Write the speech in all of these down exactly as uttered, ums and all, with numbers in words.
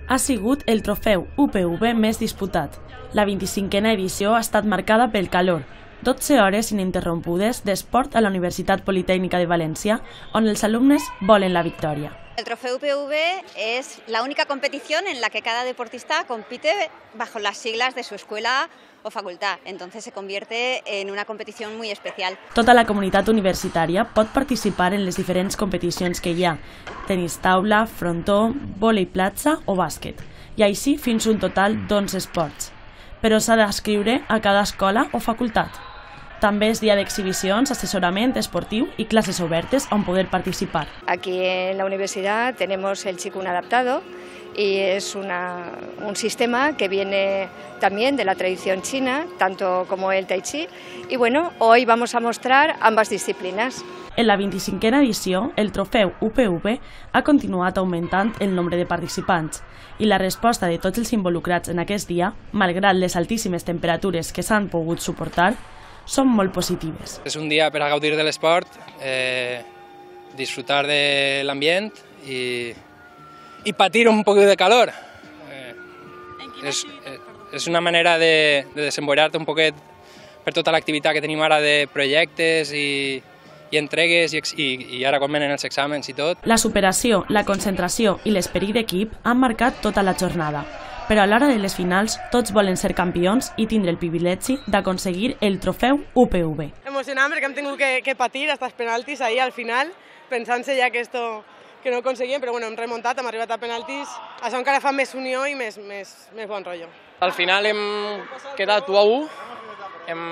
ha sigut el trofeu U P V més disputat. La vint-i-cinquena edició ha estat marcada pel calor, dotze hores ininterrompudes d'esport a la Universitat Politècnica de València, on els alumnes volen la victòria. El trofeo U P V es la única competición en la que cada deportista compite bajo las siglas de su escuela o facultad, entonces se convierte en una competición muy especial. Tota la comunitat universitària pot participar en les diferents competicions que hi ha: tenis taula, frontó, vòlei platja o bàsquet, i així fins un total d'onze esports. Però s'ha d'adscriure a cada escola o facultat. També és dia d'exhibicions, assessorament esportiu y clases obertes on poder participar. Aquí en la universidad tenemos el Qigong adaptado y es una, un sistema que viene también de la tradición china, tanto como el Tai Chi. Y bueno, hoy vamos a mostrar ambas disciplinas. En la vint-i-cinquena edició, el trofeu U P V ha continuat augmentant el nombre de participants i la resposta de tots els involucrats en aquest dia, malgrat les altíssimes temperatures que s'han pogut suportar, són molt positives. És un dia per a gaudir de l'esport, eh, disfrutar de l'ambient i, i patir un poc de calor. Eh, és, és una manera de, de desenvolupar-te un poquet per tota l'activitat que tenim ara de projectes i, i entregues i, i, i ara quan venen els exàmens i tot. La superació, la concentració i l'esperit d'equip han marcat tota la jornada. Però a l'hora de les finals tots volen ser campions i tindre el privilegi d'aconseguir el trofeu U P V. Emocionant perquè hem tingut que, que patir fins als penaltis ahir al final, pensant-se ja que esto que no ho aconseguíem, però bueno, hem remuntat, hem arribat a penaltis, això encara fa més unió i més, més, més bon rotllo. Al final hem quedat u a u, hem,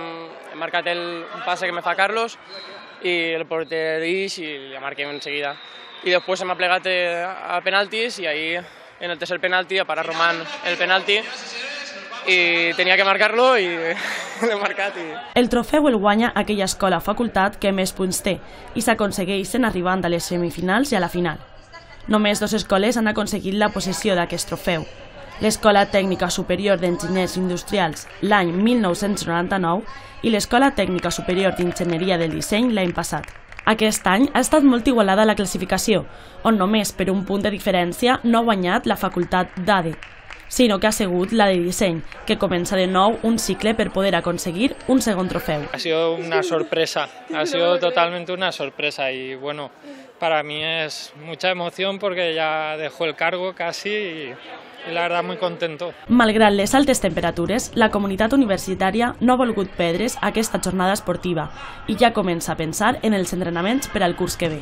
hem marcat el, un passe que me fa Carlos i el porter d'Ix i la marquem enseguida. I després hem aplegat a penaltis i ahí en el tercer penalti a parar Román el penalti i tenia que marcar-lo i l'he marcat. I... El trofeu el guanya aquella escola o facultat que més punts té i s'aconsegueixen arribant a les semifinals i a la final. Només dues escoles han aconseguit la possessió d'aquest trofeu. L'Escola Tècnica Superior d'Enginyers Industrials l'any mil nou-cents noranta-nou i l'Escola Tècnica Superior d'Enginyeria del Disseny l'any passat. Aquest any ha estat molt igualada la classificació, on només per un punt de diferència no ha guanyat la facultat d'A D E, sinó que ha sigut la de disseny, que comença de nou un cicle per poder aconseguir un segon trofeu. Ha sido una sorpresa, ha sido totalmente una sorpresa y bueno, para mí es mucha emoción porque ya dejó el cargo casi y... i la verdad muy contento. Malgrat les altes temperatures, la comunitat universitària no ha volgut perdre's aquesta jornada esportiva i ja comença a pensar en els entrenaments per al curs que ve.